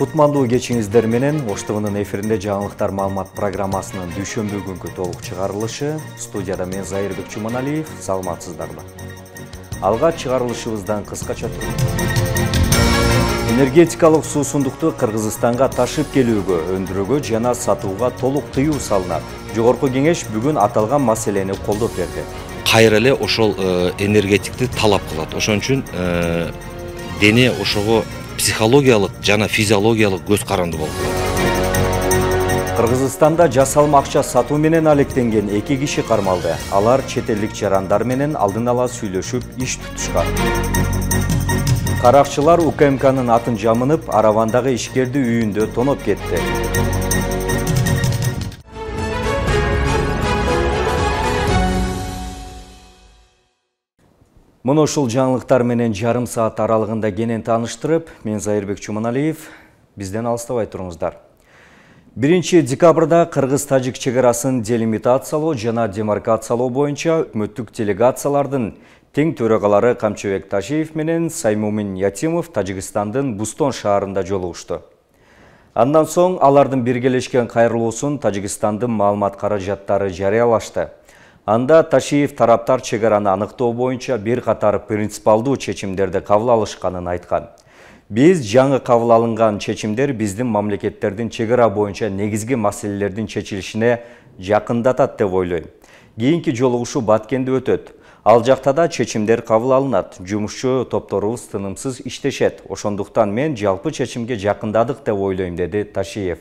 Кутмандуу кечиңиздер менен Ош ТВнын эфиринде жаңылыктар маалымат программасынын дүйшөмбү күnkү толук чыгарылышы. Студияда мен Зайырбек Чуманалиев. Саламатсыздарбы? Алга чыгарылышыбыздан кыскача энергетикалык суусундукту Кыргызстанга ташып келүүгө, өндүрүүгө жана сатууга толук тыюу салынат. Жогорку кеңеш бүгүн аталган маселени колдоп берди. Кайра эле ошол энергетикти талап кылат. Ошон үчүн дене ошого психологиялык жана физиологиялык көз каранды болуп калат. Кыргызстанда жасалма акча сатуу менен алектенген 2 киши кармалды. Алар чет элдик жарандар менен алдын ала сүйлөшүп иш тутушкан. Каракчылар УКМКнын атын жамынып, Аравандагы ишкерди үйүндө тоноп кетти. Муну ушул жаңылыктар менен жарым саат аралыгында кенен тааныштырып, мен Зайырбек Чуманалиев, бизден алыстабай туруңуздар. 1 декабрда Кыргыз-Тажик чегарасын делимитациялоо жана демаркациялоо боюнча өкмөттүк делегациялардын тең төрагалары Камчыбек Ташиев менен Саймумин Ятимов Тажикстандын Бустон шаарында жолугушту. Андан соң алардын биргелешкен кайрылуусун Тажикстандын маалымат каражаттары жарыялашты. Анда Ташиев тараптар чегараны аныктоо боюнча бир катар принципалдуу чечимдерди кабыл алышканын айткан. Биз жаңы кабыл алынган чечимдер биздин мамлекеттердин чегара боюнча негизги маселелердин чечилишине жакындатат деп ойлойм. Кийинки жолугушуу Баткенде өтөт. Ал жакта да чечимдер кабыл алынат. Жумушчу топторубуз тынымсыз иштешет. Ошондуктан мен жалпы чечимге жакындадык деп ойлойм, деди Ташиев.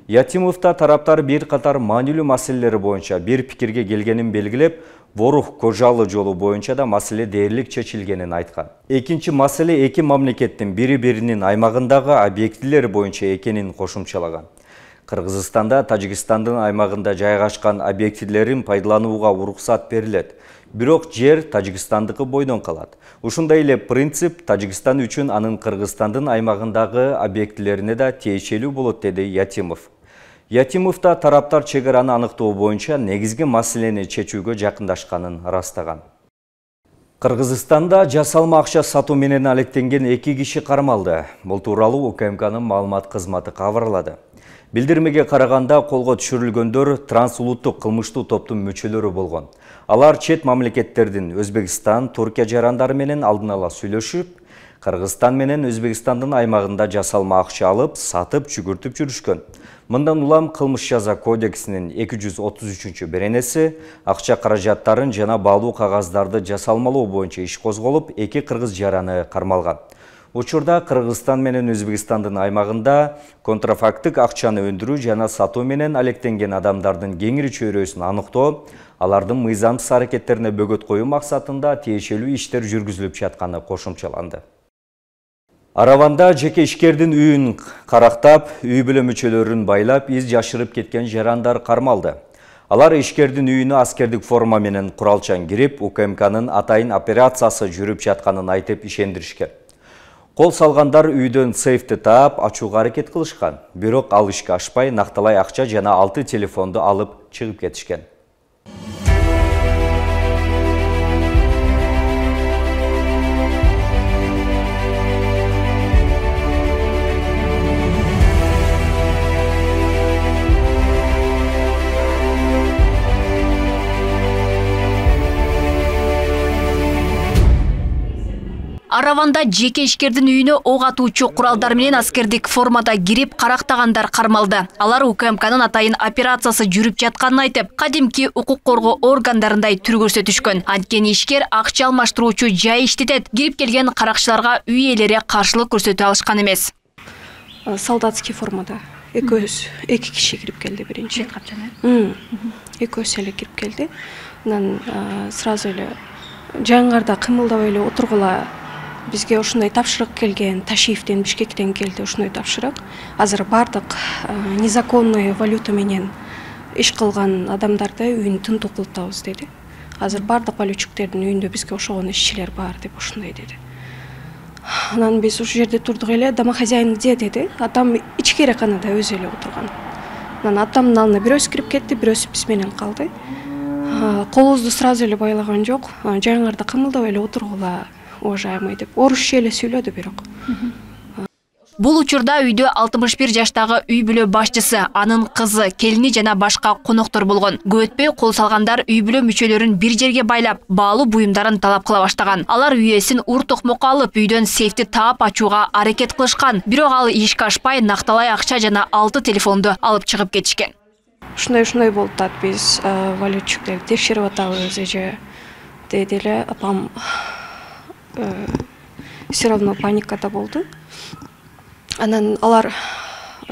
Ятимовта тараптар бир катар маанилүү маселелери боюнча бир пикирге келгенин белгилеп, Борух Кожалы жолу боюнча да маселе дээрлик чечилгенин айткан. Экинчи маселе эки мамлекеттин бири-биринин аймагындагы объектилери боюнча экенин кошумчалаган. Кыргызстанда Тажикстандын аймагында жайгашкан объектилерин пайдаланууга уруксат берилет. Бирок жер Тажикстандыкы бойдон калат. Ушундай эле принцип Тажикстан үчүн анын Кыргызстандын аймагындагы объектилерине да тиешелүү болот, деди Ятимов. Ятимовта тараптар чегараны аныктоо боюнча негизги маселени чечүүгө жакындашканын ырастаган. Кыргызстанда жасалма акча сатуу менен алектенген 2 киши кармалды. Бул тууралуу УКМКнын маалымат кызматы кабарлады. Билдирмеге караганда колго түшүрүлгөндөр трансулуттук кылмыштуу топтун мүчөлөрү болгон. Алар чет мамлекеттердин Өзбекстан, Туркия жарандары менен алдын ала сүйлөшүп, Кыргызстан менен Өзбекстандын аймагында жасалма акча алып, сатып, жүгүртүп жүрүшкөн. Мындан улам кылмыш жаза кодексинин 233 беренеси акча каражаттарын жана баалуу кагаздарды жасалмалоо боюнча иш козголуп, 2 кыргыз жараны кармалган. Учурда Кыргызстан менен Өзбекстандын аймагында контрафактык акчаны өндүрүү жана сатуу менен алектенген адамдардын кеңири чөйрөсүн аныктоо, алардын мыйзамсыз аракеттерине бөгөт коюу максатында тиешелүү иштер жүргүзүлүп жатканы кошумчаланды. Араванда жеке ишкердин үйүн карактап, үй бүлө мүчөлөрүн байлап, из жашырып кеткен жарандар кармалды. Алар ишкердин үйүнө аскердик форма менен куралчан кирип, УКМКнын атайын операциясы жүрүп жатканын айтып ишендиришкен. Кол салгандар үйдөн сейфти таап, ачууга аракет кылышкан. Бирок ал ишке ашпай, накталай акча жана 6 телефонду алып чыгып кетишкен. Араванда жеке ишкердин үйүнө ок атуучу куралдар менен аскердик формада кирип карактагандар кармалды. Алар УКМКнын атайын операциясы жүрүп жатканын айтып, кадимки укук коргоо органдарындай түр көрсөтүшкөн. Анткени ишкер акча алмаштыруучу жай иштетет. Кирип келген каракчыларга үй ээлери каршылык көрсөтө алышкан эмес. Солдатский формада эки киши кирип келди биринчи. Экөөсү эле кирип келди. Анан сразу эле жаңырда кымылдабай эле отургула. Бизге ушундай тапшырык келген, Ташиевден, Бишкектен келди ушундай тапшырык. Азыр бардык незаконный валюта менен иш кылган адамдарды үйүн тынтуу кылып атабыз деди. Азыр бардык валютчиктердин үйүндө бизге ошогон ишчилер бар деп ушундай деди. Анан биз ушул жерде турдук эле, домохозяин где деди. Атам ичкереканада өзү эле отурган. Анан атамдын алдына бирөөсү кирип кетти, бирөөсү биз менен калды. Колубузду сразу эле байлаган жок. Жаңырда кымылдабай эле отургула, уважаемый деп орусча эле сүйлөдү бирок. Бул учурда үйдө 61 жаштагы үй бүлө башчысы, анын кызы, келини жана башка коноктор болгон. Көп өтпөй кол салгандар үй бүлө мүчөлөрүн бир жерге байлап, баалуу буюмдарын талап кыла баштаган. Алар үйесин ур токмокко алып, үйдөн сейфти таап ачууга аракет кылышкан. Бирок ал ишке ашпай, накталай акча жана 6 телефонду алып чыгып кетишкен. Ушундай болуп атат, биз валютчиктерди текшерип атабыз эже деди эле. Апам все равно паникада болду. Анан алар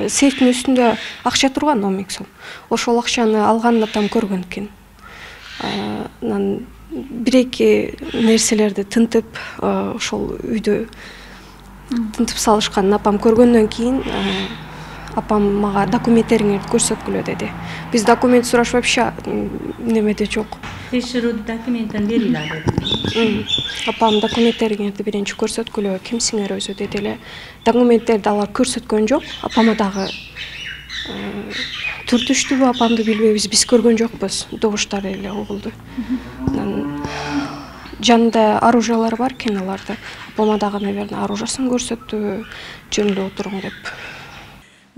сейфтин үстүндө акча турган 10 000 сом. Ошол акчаны алганын атам көргөн экен. Анан бир-эки нерселерди тынтып, ошол үйдө тынтып салышканын апам көргөндөн кийин апам мага документтериңерди көрсөткүлө деди. Биз документ сураш вообще немеде жок. Текшерүү документин берилди. Апам документтериңерди биринчи көрсөткүлө, кимсиңер өзү деди эле. Документтерди алар көрсөткөн жок. Апама дагы түртүштүбү, апамды билбейбиз, биз көргөн жокпуз. Добуштар эле угулду. Жанында оружиялар бар экен аларда. Апама дагы, наверное, оружиясын көрсөттү, жөнүлүп отуруң деп.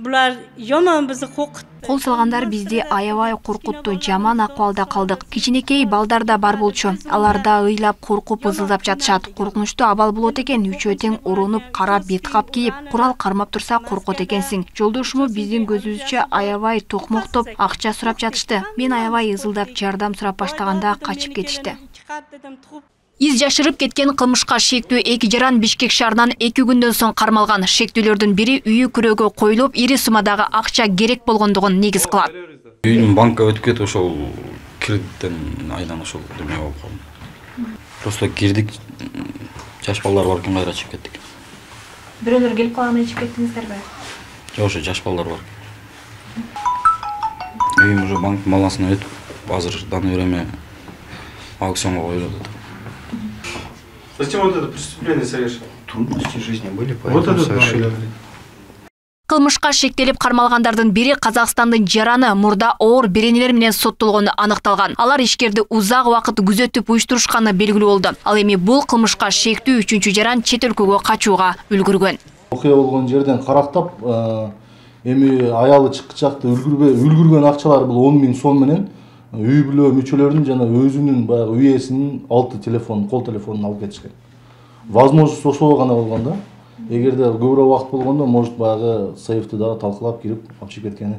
Булар жаман бизди коркутtu. Кол салгандар бизди аябай коркутту, жаман акыбалда калдык. Кичинекей балдар да бар болчу. Алар да ыйлап, коркуп, ызылдап жатышат. Коркунучтуу абал болот экен, үчөө тең урунуп, кара беткап кийип, курал кармап турса коркот экенсиң. Жолдошуму биздин көзүбүзчө аябай токмоктоп, акча сурап жатышты. Мен аябай ызылдап, жардам сурап баштаганда качып кетишти. Из жашырып кеткен кылмышка шектүү эки жаран Бишкек шаарынан 2 күндөн соң кармалган. Шектүүлөрдүн бири үйү күрөөгө коюлуп, ири суммадагы акча керек болгондугун негиз кылат. Үйдүн банкка өтүп кетип, ошол кредиттен айдан ошол деме болуп калды. Просто кирдик, жаш балдар бар экен, кайра чыгып кеттик. Бирөөлөр келип калганда чыгып кеттиңиздерби? Жок, ошо жаш балдар бар. Үйүм уже банк балансына өтүп, азыр даны время аукционго коюлуп атат. Зачем вот это преступление совершил? Трудности жизни были, Вот поэтому это совершили. Кылмышка шектелип кармалгандардын бири Казакстандын жараны, мурда оор беренелер менен соттолгону аныкталган. Алар ишкерди узак убакыт күзөтүп уюштурушканы белгилүү болду. Ал эми бул кылмышка шектүү 3-чү жаран чет өлкөгө качууга үлгүргөн. Окуя болгон жерден карактап, эми аялы чыкчакты үлгүргөн акчалар бул 10 000 сом менен үй бүлө мүчөлөрүнүн жана өзүнүн баягы үйесинин 6 телефон, кол телефонун алып кетишкен. Возможность ошол гана болгон да. Эгерде көбүрөөк убакыт болгондо, может баягы сейфти дагы талкалап кирип алып чыгып кеткени.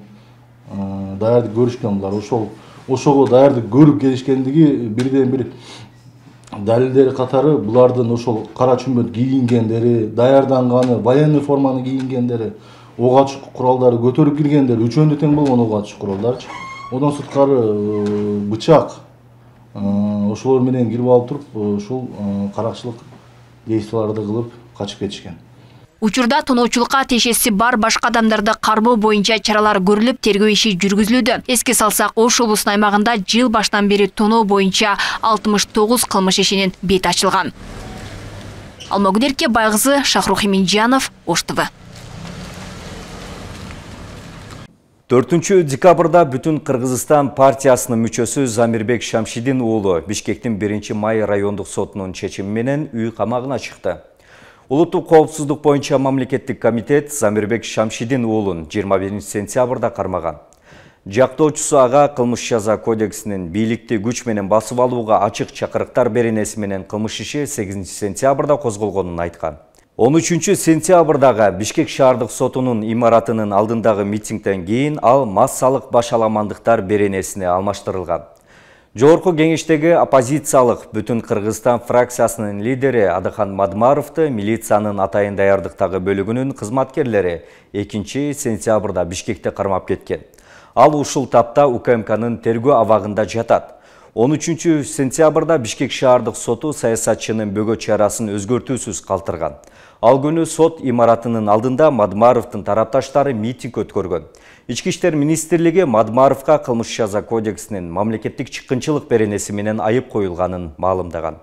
Даярдык көрүшкөн булар. Ошого даярдык көрүп келишкендиги бирден бир далилдери катары булардын ошол кара чүмбөт кийингендери, даярданганы, военный форманы кийингендери, ок атыш куралдары көтөрүп киргендери, үчөөндө тең болгон ок атыш куралдарчы. Одан сырткары бычак ошолор менен кирип алып туруп, ушул каракчылык действияларды кылып качып кетишкен. Учурда тоноочулукка тиешеси бар башка адамдарды кармоо боюнча чаралар көрүлүп, тергөө иши жүргүзүлүүдө. Эске салсак, Ош облусунун аймагында жыл баштан бери тоноо боюнча 69 кылмыш ишинин бети ачылган. Алмагүнерке Байгызы, Шахрух Эминжанов, Ош ТВ. 4 декабрда бүтүн Кыргызстан партиясынын мүчөсү Замирбек Шамшидин уулу Бишкектин 1 май райондук сотунун чечими менен үй камагына чыкты. Улуттук коопсуздук боюнча мамлекеттик комитет Замирбек Шамшидин уулун 21 сентябрда кармаган. Жактоочусу ага кылмыш жаза кодексинин бийликти күч менен басып алууга ачык чакырыктар беренеси менен кылмыш иши 8 сентябрда козголгонун айткан. 13 сентябрдагы Бишкек шаардык сотунун имаратынын алдындагы митингден кийин ал массалык башаламандыктар беренесине алмаштырылган. Жогорку кеңештеги оппозициялык Бүтүн Кыргызстан фракциясынын лидери Адыхан Мадмаровду милициянын атайын даярдыктагы бөлүгүнүн кызматкерлери 2 сентябрда Бишкекте кармап кеткен. Ал ушул тапта УКМКнын тергөө абагында жатат. 13 сентябрда Бишкек шаардык соту саясатчынын бөгөт чарасын өзгөртүүсүз калтырган. Ал күнү сот имаратынын алдында Мадмаровдун тарапташтары митинг өткөргөн. Ички иштер министрлиги Мадмаровга кылмыш жаза кодексинин мамлекеттик чыккынчылык беренеси менен айып коюлганын маалымдаган.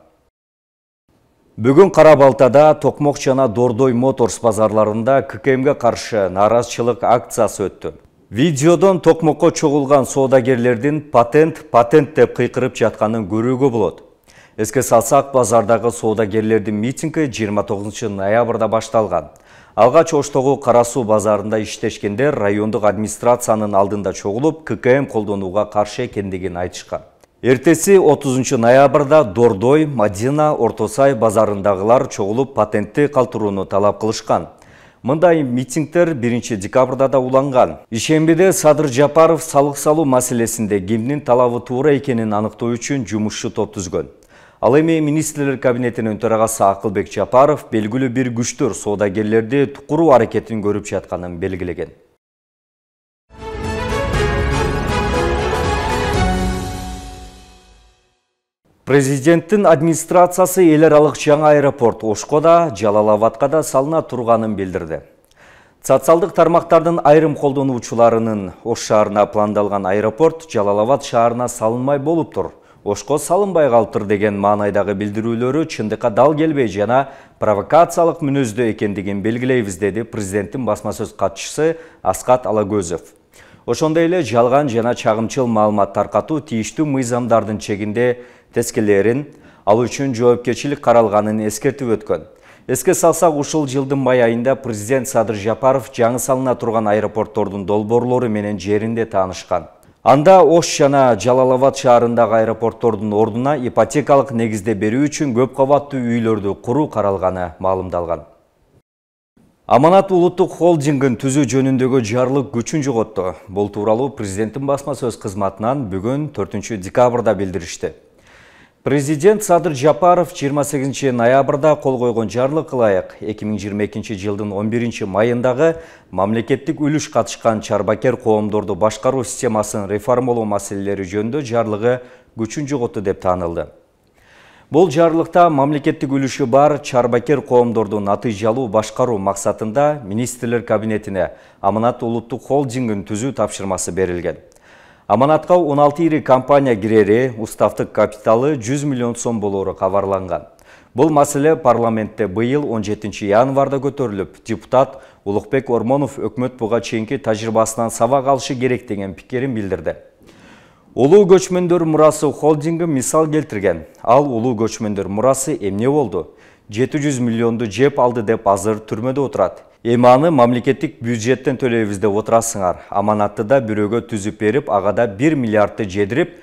Бүгүн Кара Балтада Токмок жана Дордой Моторс базарларында ККМге каршы нааразычылык акциясы өттү. Видеодон Токмокко чогулган соодагерлердин патент деп кыйкырып жатканын көрүүгө болот. Эске салсак, базардагы соодагерлердин митинги 29 ноябрда башталган. Алгач Оштогу Кара Суу базарында иштешкендер райондук администрациянын алдында чогулуп, ККМ колдонууга каршы экендигин айтышкан. Эртеси 30 ноябрда Дордой, Мадина, Орто Сай базарындагылар чогулуп патентти калтырууну талап кылышкан. Мындай митингдер 1 декабрда да уланган. Ишембиде Садыр Жапаров салык салуу маселесинде кимдин талабы туура экенин аныктоо үчүн жумушчу топ түзгөн. Ал эми министрлер кабинетинин төрагасы Акылбек Жапаров белгилүү бир күчтөр соодагерлерди тукуруу аракетин көрүп жатканын белгилеген. Президенттин администрациясы эл аралык жаңы аэропорт Ошкода, Жалал-Абадка да салына турганын билдирди. Социалдык тармактардын айрым колдонуучуларынын Ош шаарына пландалган аэропорт Жалал-Абад шаарына салынмай болуптур. Ошко салынбай калыптыр деген маанайдагы билдирүүлөрү чындыкка дал келбей жана провокациялык мүнөздө экендигин белгилейбиз, деди президенттин басма сөз катчысы Аскат Алагөзов. Ошондой эле жалган жана чагымчыл маалымат таркатуу тийиштүү мыйзамдардын чегинде тескелерин алуу үчүн жоопкерчилик каралганын эскертип өткөн. Эске салсак, ушул жылдын май айында президент Садыр Жапаров жаңы салына турган аэропорттордун долбоорлору менен жеринде таанышкан. Анда Ош жана Жалал-Абад шаарындагы аэропорттордун ордуна ипотекалык негизде берүү үчүн көп кабаттуу үйлөрдү куруу каралганы маалымдалган. Аманат улуттук холдингин түзүү жөнүндөгү жарлык күчүн жоготту. Бул тууралуу президенттин басма сөз кызматынан бүгүн 4 декабрда билдиришти. Президент Садыр Жапаров 28 ноябрда кол койгон жарлыкка ылайык 2022 жылдын 11 майындагы мамлекеттик үлүш катышкан чарбакер коомдорду башкаруу системасын реформалоо маселелери жөнүндө жарлыгы күчүн жоготту деп таанылды. Бул жарлыкта мамлекеттик үлүшү бар чарбакер коомдорду натыйжалуу башкаруу максатында министрлер кабинетине Аманат улуттук холдингин түзүү тапшырмасы берилген. Аманатка 16 ири компания кирери, уставдык капиталы 100 миллион сом болору кабарланган. Бул маселе парламентте быйыл 17 январда көтөрүлүп, депутат Улукбек Ормонов өкмөт буга чейинки тажрыйбасынан сабак алышы керек деген пикирин билдирди. Улуу көчмөндөр мурасы холдинги мисал келтирген. Ал улуу көчмөндөр мурасы эмне болду? 700 миллионду жеп алды деп азыр түрмөдө отурат. Эми аны мамлекеттик бюджеттен төлөйбүз деп отурасыңар. Аманатты да бирөөгө түзүп берип, ага да 1 миллиардты жедирип,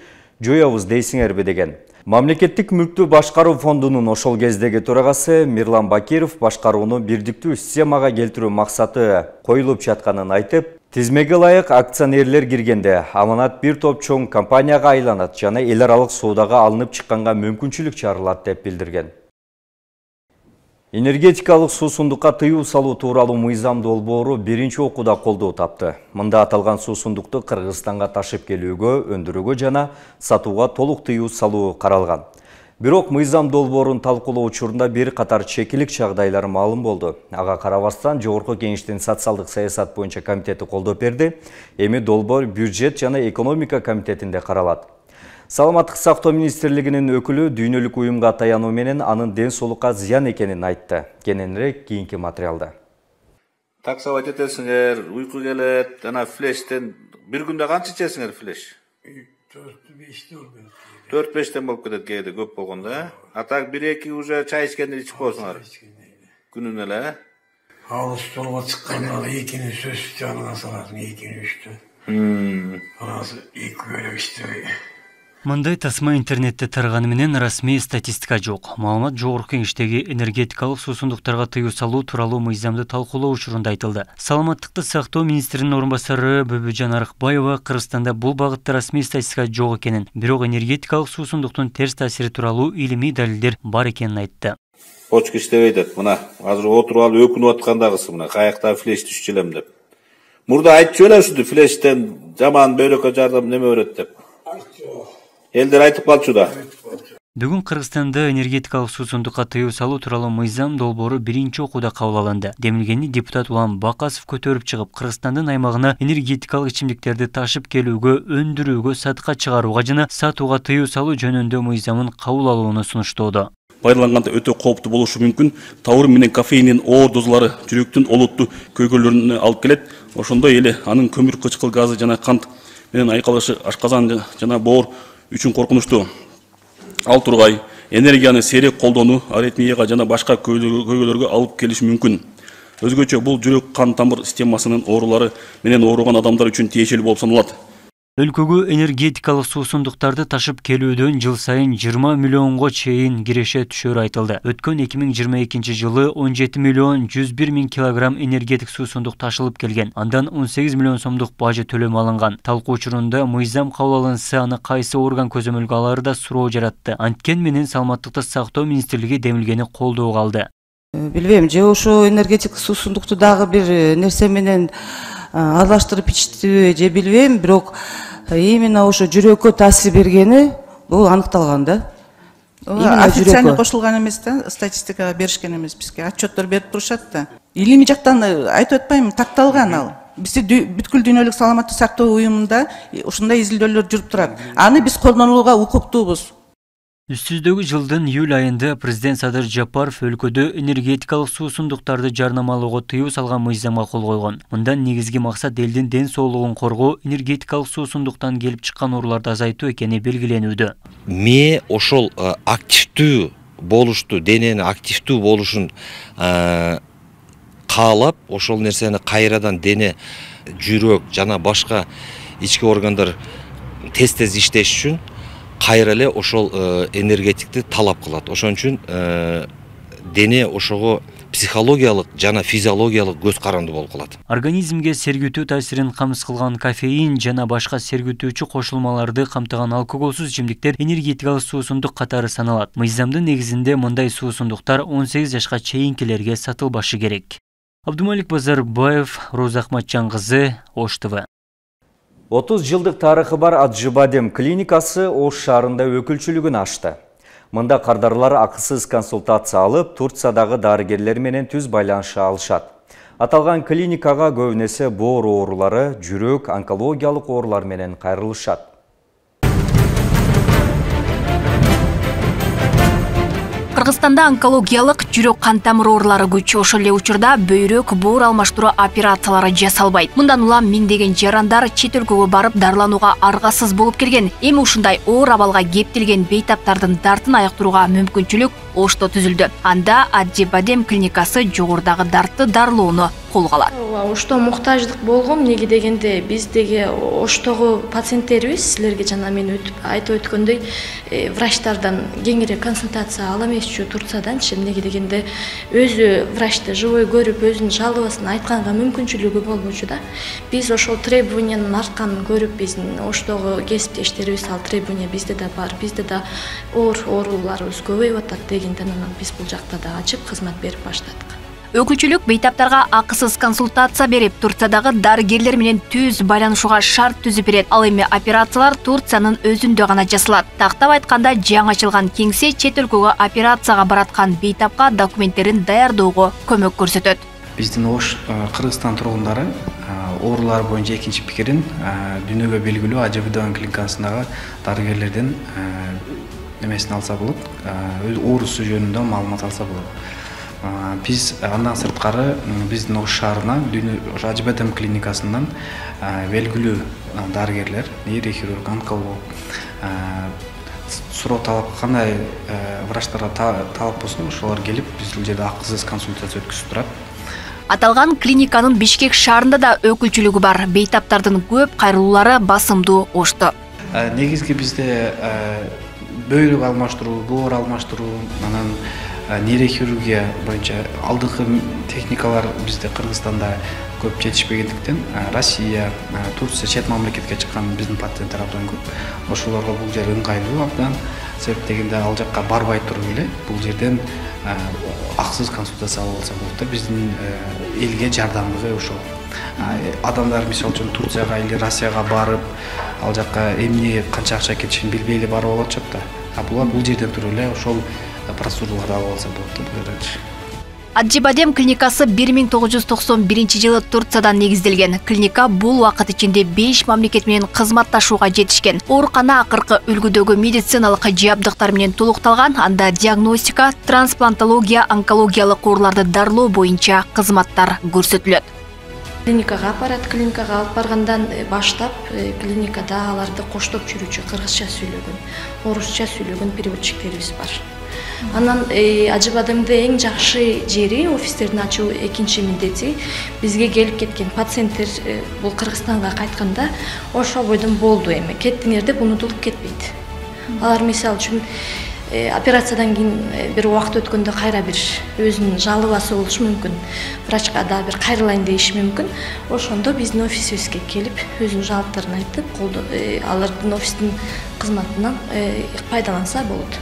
жоябыз дейсиңерби деген. Мамлекеттик мүлктү башкаруу фондунун ошол кездеги төрагасы Мирлан Бакиров башкарууну бирдиктүү системага келтирүү максаты коюлуп жатканын айтып, тизмеге ылайык акционерлер киргенде Аманат бир топ чоң компанияга айланат жана эл аралык соодага алынып чыкканга мүмкүнчүлүк чарылат деп билдирген. Энергетикалык суусундукка тыюу салуу тууралуу мыйзам долбоору биринчи окууда колдоо тапты. Мында аталган суусундукту Кыргызстанга ташып келүүгө, өндүрүүгө жана сатууга толук тыюу салуу каралган. Бирок мыйзам долбоорун талкуулоо учурунда бир катар чекилик чагдайлар маалым болду. Ага карабастан Жогорку Кеңештин социалдык саясат боюнча комитети колдоп берди. Эми долбоор бюджет жана экономика комитетинде каралат. Саламаттык сактоо министрлигинин өкүлү дүйнөлүк уюмга таянуу менен анын ден соолукка зыян экенин айтты. Кененирээк кийинки материалда. Таксовать этесиңер, уйку келет, жана флештен бир күндө канча ичесиңер флеш? 4-5тен болуп кетет кээде көп болгондо, а так 1-2 уже чай ичкенди ичип коесуңар. Күнүнө эле. Ал столго чыкканда экини сөз жанына саласың, экини үчтө. Анасы 2 бөлөк иштебей. Мындай тасма интернетте тараганы менен расмий статистика жок. Маалымат Жогорку Кеңештеги энергетикалык суусундуктарга тыюу салуу тууралуу мыйзамды талкуулоо учурунда айтылды. Саламаттыкты сактоо министринин орун басары Бөбөжан Арыкбаева Кыргызстанда бул багытта расмий статистика жок экенин, бирок энергетикалык суусундуктун терс таасири тууралуу илимий далилдер бар экенин айтты. Почка иштебей деп, мына азыр отуруп алып өкүнүп аткандагысы мына каякта флеш түшчү элем деп. Мурда айтчу эле ушунду флештен жаман бөлөккө жардам неме берет деп. Элдер айтып калчу да. Бүгүн Кыргызстанда энергетикалык суусундукка тыюу салуу тууралуу мыйзам долбоору биринчи окууда кабыл алынды. Демилгени депутат Улан Бакасов көтөрүп чыгып, Кыргызстандын аймагына энергетикалык ичимдиктерди ташып келүүгө, өндүрүүгө, сатыкка чыгарууга жана сатууга тыюу салуу жөнүндө мыйзамын кабыл алууну сунуштоодо. Пайдаланганда өтө кооптуу болушу мүмкүн. Таур менен кофеиндин оор дозалары жүрөктүн олуттуу көйгөйлөрүнө алып келет. Ошондой эле анын көмүр кычкыл газы жана кант менен айкалышы ашказан жана боор үчүн коркунучтуу. Ал тургай энергияны сейрек колдонуу, аритмияга жана башка көйгөйлөргө алып келиши мүмкүн. Өзгөчө бул жүрөк кан тамыр системасынын оорулары менен ооруган адамдар үчүн тиешелүү болуп саналат. Өлкөгө энергетикалык суусундуктарды ташып келүүдөн жыл сайын 20 миллионго чейин киреше түшөрү айтылды. Өткөн 2022 жылы 17 миллион 101 миң килограмм энергетик суусундук ташылып келген. Андан 18 миллион сомдук бажы төлөм алынган. Талкуу учурунда мыйзам кабыл алынса, аны кайсы орган көзөмөлгө алары да суроо жаратты. Анткени менен Саламаттыкты сактоо министрлиги демилгени колдоого алды. Билбейм, же ошо энергетик суусундукту дагы бир нерсе менен аралаштырып ичтиби же билбейм, бирок именно ошо жүрөккө таасир бергени бул аныкталган да. Официально кошулган эмес да, статистикага беришкен эмес бизге. Отчеттор берип турушат да. Илимий жактан айтып атпайм, такталган ал. Бизде бүткүл дүйнөлүк саламаттык сактоо уюмунда ушундай изилдөөлөр жүрүп турат. Аны биз колдонууга укуктуубуз. Үстүздөгү жылдын июль айында президент Садыр Жапаров өлкөдө энергетикалык суусундуктарды жарнамалоого тыюу салган мыйзамга кол койгон. Мындан негизги максат элдин ден соолугун коргоо, энергетикалык суусундуктан келип чыккан ооруларды азайтуу экени белгиленүүдө. Ме ошол активдүү болушту, денени активдүү болушун каалап, ошол нерсени кайрадан дене, жүрөк жана башка ички органдар тез иштеш үчүн кайра эле ошол энергетикти талап кылат. Ошон үчүн дене ошого психологиялык жана физиологиялык көз каранды болуп калат. Организмге сергүтүү таасирин камсыз кылган кофеин жана башка сергүтүүчү кошулмаларды камтыган алкоголсуз ичимдиктер энергетикалык суусундук катары саналат. Мыйзамдын негизинде мындай суусундуктар 18 жашка чейинкилерге сатылбашы керек. Абдумалик Базарбаев, Роза Ахматжан кызы, Ош ТВ. 30 жылдык тарыхы бар Аджибадем клиникасы Ош шаарында өкүлчүлүгүн ачты. Мында кардарлар акысыз консультация алып, Турциядагы дарыгерлер менен түз байланыша алышат. Аталган клиникага көбүнесе боор оорулары, жүрөк, онкологиялык оорулар менен кайрылышат. Кыргызстанда онкологиялык жүрөк кан тамыр оорулары күч, ошол эле учурда бөйрөк боор алмаштыруу операциялары жасалбайт. Мындан улам миңдеген жарандар чет өлкөгө барып дарыланууга аргасыз болуп келген. Эми ушундай оор абалга кептелген бейтаптардын дартын айыктырууга мүмкүнчүлүк Ошто түзүлдү. Анда Аджибадем клиникасы жогорудагы дартты дарылоону колго алат. Ошто муктаждык болгон, эмнеге дегенде биздеги Оштогу пациенттерибиз силерге жана мен айтып өткөндөй врачтардан кеңирээк консультация ала эмесчү Турцияданчы, эмнеге дегенде өзү врачты живой көрүп, өзүнүн жалобасын айтканга мүмкүнчүлүгү болбочу да. Биз ошол требованиянын артканын көрүп, биздин Оштогу кесиптештерибиз ал требования бизде да бар, бизде да ооруларыбыз көбөйүп атат дегенден анан биз бул жакта да ачып кызмат берип баштадык. Өкүлчүлүк бейтаптарга акысыз консультация берип, Турциядагы дарыгерлер менен түз байланышууга шарт түзүп берет. Ал эми операциялар Турциянын өзүндө гана жасалат. Тактап айтканда, жаңы ачылган кеңсе чет өлкөгө операцияга бараткан бейтапка документтерин даярдоого көмөк көрсөтөт. Биздин Ош Кыргызстан тургундары оорулар боюнча экинчи пикирин дүйнөгө белгилүү Аджибадем клиникасындагы дарыгерлерден немесин алса болот, оорусу жөнүндө маалымат алса болот. Биз андан сырткары биздин Ош шаарына Аджибадем клиникасынан белгилүү дарыгерлер, нейрохирург, онколог, суроо талап кандай врачтарга талап болсун, ошолор келип бул жерде акысыз консультация өткөзүп турат. Аталган клиниканын Бишкек шаарында да өкүлчүлүгү бар. Бейтаптардын көп кайрылуулары басымдуу Ошто. Негизги бизде бөйрөк алмаштыруу, боор алмаштыруу, анан нейрохирургия боюнча алдыңкы техникалар бизде Кыргызстанда көп жетишпегендиктен Россия, Турция, чет мамлекетке чыккан биздин пациенттер абдан көп. Ошолорго бул жер ыңгайлуу абдан. Себеп дегенде ал жакка барбай туруп эле бул жерден акысыз консультация алып алса болот да. Биздин элге жардамдыгы ошол. Адамдар мисалы үчүн Турцияга или Россияга барып, ал жакка эмне канча акча кетишин билбей эле барып алып атышат да. Булар бул жерден туруп эле ошол процедураларды алып алса болот да. Аджибадем клиникасы 1991 жылы Турциядан негизделген. Клиника бул убакыт ичинде 5 мамлекет менен кызматташууга жетишкен. Оорукана акыркы үлгүдөгү медициналык жабдыктар менен толукталган. Анда диагностика, трансплантология, онкологиялык ооруларды дарылоо боюнча кызматтар көрсөтүлөт. Клиникага алып баргандан баштап клиникада аларды коштоп жүрүүчү кыргызча сүйлөгөн, орусча сүйлөгөн переводчиктерибиз бар. Анан Ажы Бадемде эң жакшы жери офистерин ачуу экинчи милдети. Бизге келип кеткен пациенттер бул Кыргызстанга кайтканда ошо бойдон болду эми. Кеттиңер деп унутулуп кетпейт. Алар мисалы үчүн операциядан кийин бир убакыт өткөндө кайра бир өзүнүн жалыбасы болушу мүмкүн. Врачка да бир кайрылайын деши мүмкүн. Ошондо биздин офисибизге келип, өзүнүн жалптарын айтып, алардын офистин кызматынан пайдаланса болот.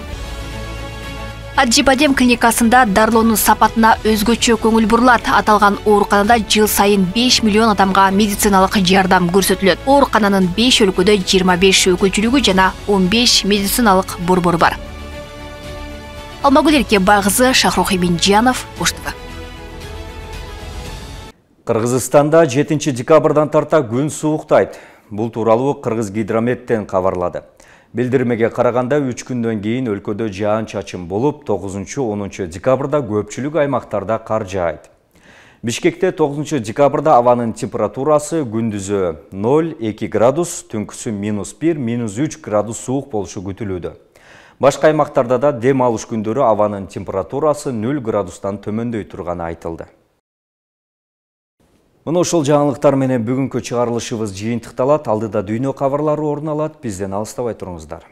Ажы Бадем клиникасында дарылоонун сапатына өзгөчө көңүл бурулат. Аталган ооруканада жыл сайын 5 миллион адамга медициналык жардам көрсөтүлөт. Оорукананын 5 өлкөдө 25 өкүлчүлүгү жана 15 медициналык борбору бар. Алмагүл Эркебай кызы, Шахрух Иминжанов, Ош ТВ. Кыргызстанда 7 декабрдан тарта күн сууктайт. Бул тууралуу Кыргызгидрометтен кабарлады. Билдирмеге караганда 3 күндөн кийин өлкөдө жаан-чачын болуп, 9-10 декабрда көпчүлүк аймактарда кар жаайт. Бишкекте 9 декабрда абанын температурасы күндүзү 0-2 градус, түнкүсү -1, -3 градус суук болушу күтүлүүдө. Башка аймактарда да дем алыш күндөрү абанын температурасы 0 градустан төмөндөй турганы айтылды. Мына ошол жаңылыктар менен бүгүнкү чыгарылышыбыз жыйынтыкталат. Алдыда дүйнө кабарлары орун алат. Бизден алыстабай туруңуздар.